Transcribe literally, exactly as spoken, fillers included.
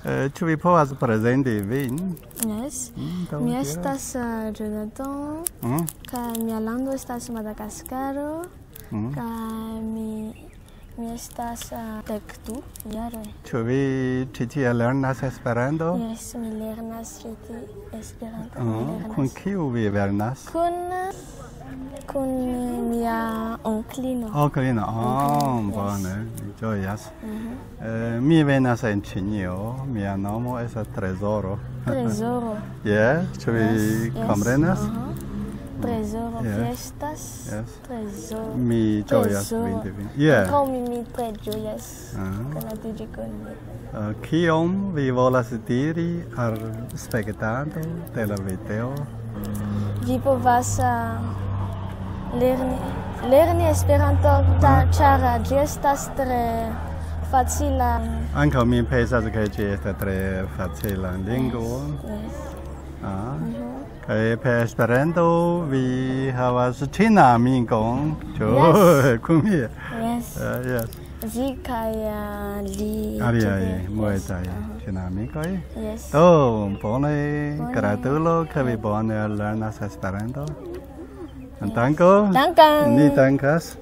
Eh, ĉu vi povas prezenti vin? Yes. Mm, do Mi diras. Estas uh, Jonathan, Mm, kaj mia lando estas Madagaskaro, mm. kaj mi, mi estas uh, dek du jaroj. Ĉu vi ĉi tie lernas Esperanto? Yes, mi lernas ĉi tie Esperanto. Mm, Mi lernas. Kun kiu vi lernas? Kun, kun mia onklino. Onklino. Oh, Yes. Bone, mi ĝojas. Mhm. Eh, mi venas en Ĉinio, mia nomo estas Trezoro. Trezoro. Yes, ĉu vi Yes, yes. komprenas? Aha. Trezoro Yes. Fiestas. Yes. Trezoro. Mi ĝojas Trezoro. vidi vin. Yeah. Ankaŭ mi, mi tre ĝojas Ah. konatiĝi kun vi. Eh, Kion vi volas diri al spektanto de la video? Vi povas uh, lerni, lerni Esperanto, ta- ĉar uh, ĝi estas tre facila. Ankaŭ mi pensas, ke ĝi estas tre facila lingvo. Yes. Ah. Mhm. Kaj per Esperanto vi havas ĉina amikon, ĉu? Yes. Kun mi. Yes. Eh, yes. Vi kaj uh, li. Aliaj ĉi tie. multaj Yes. Aha. ĉina amikoj. Yes. Do, bone, Bone. Gratulo, ke vi bone lernas Esperanto. Danko. Dankan. Ni dankas.